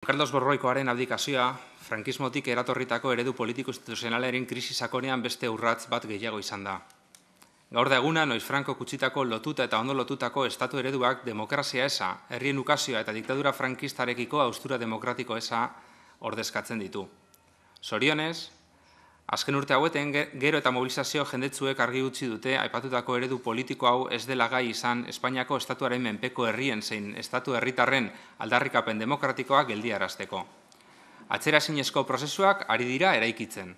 Carlos Borboikoaren abdikazioa, frankismotik eratorritako eredu politiko-instituzionalaren krisi sakonean beste urrats bat gehiago izan da. Gaur da eguna, noiz Franco kutsitako lotuta eta ondo lotutako estatu ereduak demokrazia eza, herrien ukazioa eta diktadura frankistarekiko haustura demokratiko eza ordezkatzen ditu. Zorionez, azken urte haueten gero eta mobilizazio jendetzuek argi utzi dute aipatutako eredu politiko hau ez dela gai izan Espainiako estatuaren menpeko herrien zein estatu herritarren aldarrikapen demokratikoak geldiarazteko. Atzeraezinezko prozesuak ari dira eraikitzen.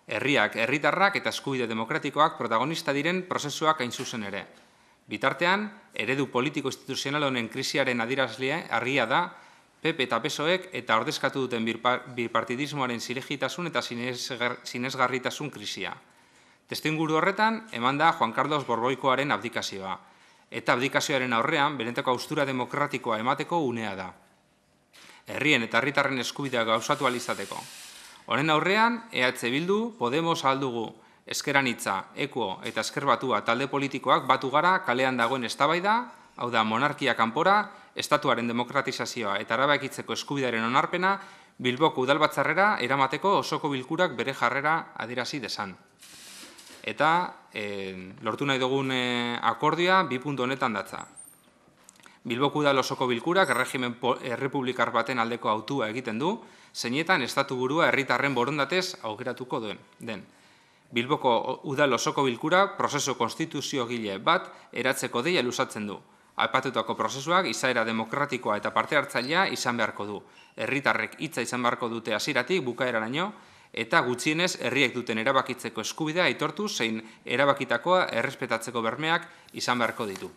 Herriak, herritarrak eta eskubide demokratikoak protagonista diren prozesuak hain zuzen ere. Bitartean, eredu politiko-instituzional honen krisiaren adierazle argia da PP eta PSOEk eta ordezkatu duten bipartidismoaren zilegitasun eta sinesgarritasun krisia. Testuinguru horretan, eman da Juan Carlos Borboikoaren abdikazioa. Eta abdikazioaren aurrean, benetako haustura demokratikoa emateko unea da. Herrien eta herritarren eskubideak gauzatu alizateko. Honen aurrean, EH Bildu, Podemos aldugu, Ezker Anitza, Ekuo eta Ezker Batua talde politikoak batu gara kalean dagoen eztabaida, hau da monarkia kanpora, estatuaren demokratizazioa eta erabakitzeko eskubidearen onarpena Bilboko udalbatzarrera eramateko osoko bilkurak bere jarrera adierazi dezan. Eta lortu nahi dugun akordioa bi puntu honetan datza. Bilboko udal osoko bilkurak erregimen errepublikar baten aldeko hautua egiten du, zeinetan estatu burua herritarren borondatez aukeratuko den. Bilboko udal osoko bilkura prozesu konstituziogile bat eratzeko deia luzatzen du. Aipatutako prozesuak izaera demokratikoa eta parte hartzailea izan beharko du. Herritarrek hitza izan beharko dute hasieratik bukaeraraino eta gutxienez herriek duten erabakitzeko eskubidea aitortu zein erabakitakoa errespetatzeko bermeak izan beharko ditu.